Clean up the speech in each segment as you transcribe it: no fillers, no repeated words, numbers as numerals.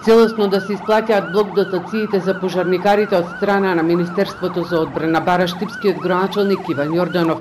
Целосно да се исплатјаат блок дотациите за пожарникарите од страна на Министерството за одбрана, бара штипскиот градоначалник Иван Јорданов.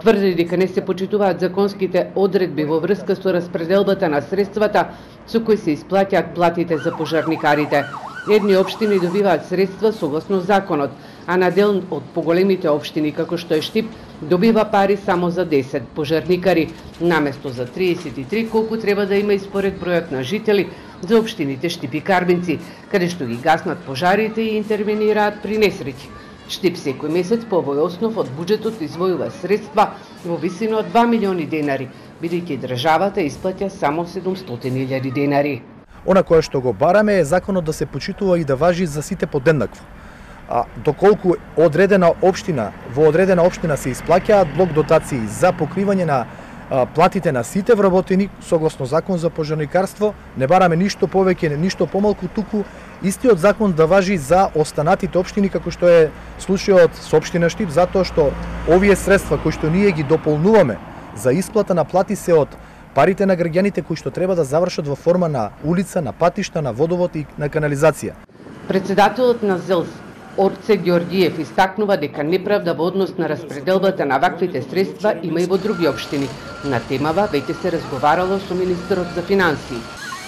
Тврди дека не се почитуваат законските одредби во врска со распределбата на средствата со кои се исплатјаат платите за пожарникарите. Едни општини добиваат средства согласно законот, а на дел од поголемите општини, како што е Штип, добива пари само за 10 пожарникари, наместо за 33 колку треба да има и според бројот на жители за општините Штип и Карбинци, каде што ги гаснат пожарите и интервенираат при несреќи. Штип секој месец по овој основ од буџетот извојува средства во висина од 2 милиони денари, бидејќи државата исплаќа само 700.000 денари. Она кое што го бараме е законот да се почитува и да важи за сите подеднакво. Доколку во одредена општина се исплаќаат блок дотации за покривање на платите на сите вработени согласно закон за пожарникарство, не бараме ништо повеќе, ништо помалку, туку истиот закон да важи за останатите општини, како што е случајот со општина Штип, затоа што овие средства кои што ние ги дополнуваме за исплата на плати се од парите на граѓаните кои што треба да завршат во форма на улица, на патишта, на водовод и на канализација. Председателот на ЗЕЛС Орце Ѓорѓиев истакнува дека неправда во однос на распределбата на ваквите средства има и во други општини. На темава веќе се разговарало со министерот за финансии.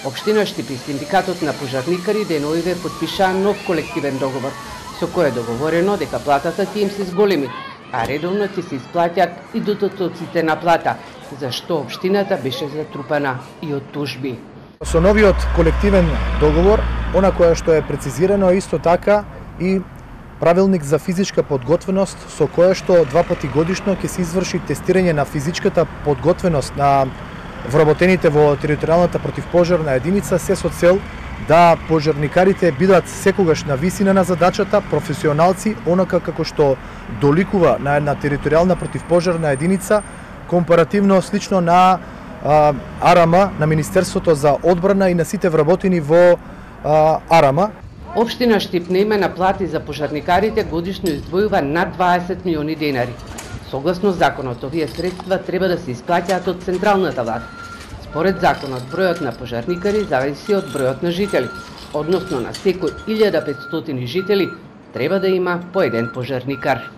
Општина Штип и синдикатот на пожарникари деноиве потпишаа нов колективен договор, со кој е договорено дека платата ќе им се зголеми, а редовно ќе се исплаќаат и дотоците на плата, за што општината беше затрупана и од тужби. Со новиот колективен договор, она која што е прецизирано исто така и правилник за физичка подготвеност со која што 2 пати годишно ќе се изврши тестирање на физичката подготвеност на вработените во територијалната противпожарна единица, се со цел да пожарникарите бидат секогаш на висина на задачата, професионалци, онака како што доликува на една територијална противпожарна единица, компаративно слично на АРАМА, на Министерството за одбрана и на сите вработени во АРАМА. Општина Штип на име на плати за пожарникарите годишно издвојува над 20 милиони денари. Согласно законот, овие средства треба да се исплаќаат од централната власт. Според законот, бројот на пожарникари зависи од бројот на жители, односно на секој 1500 жители треба да има по еден пожарникар.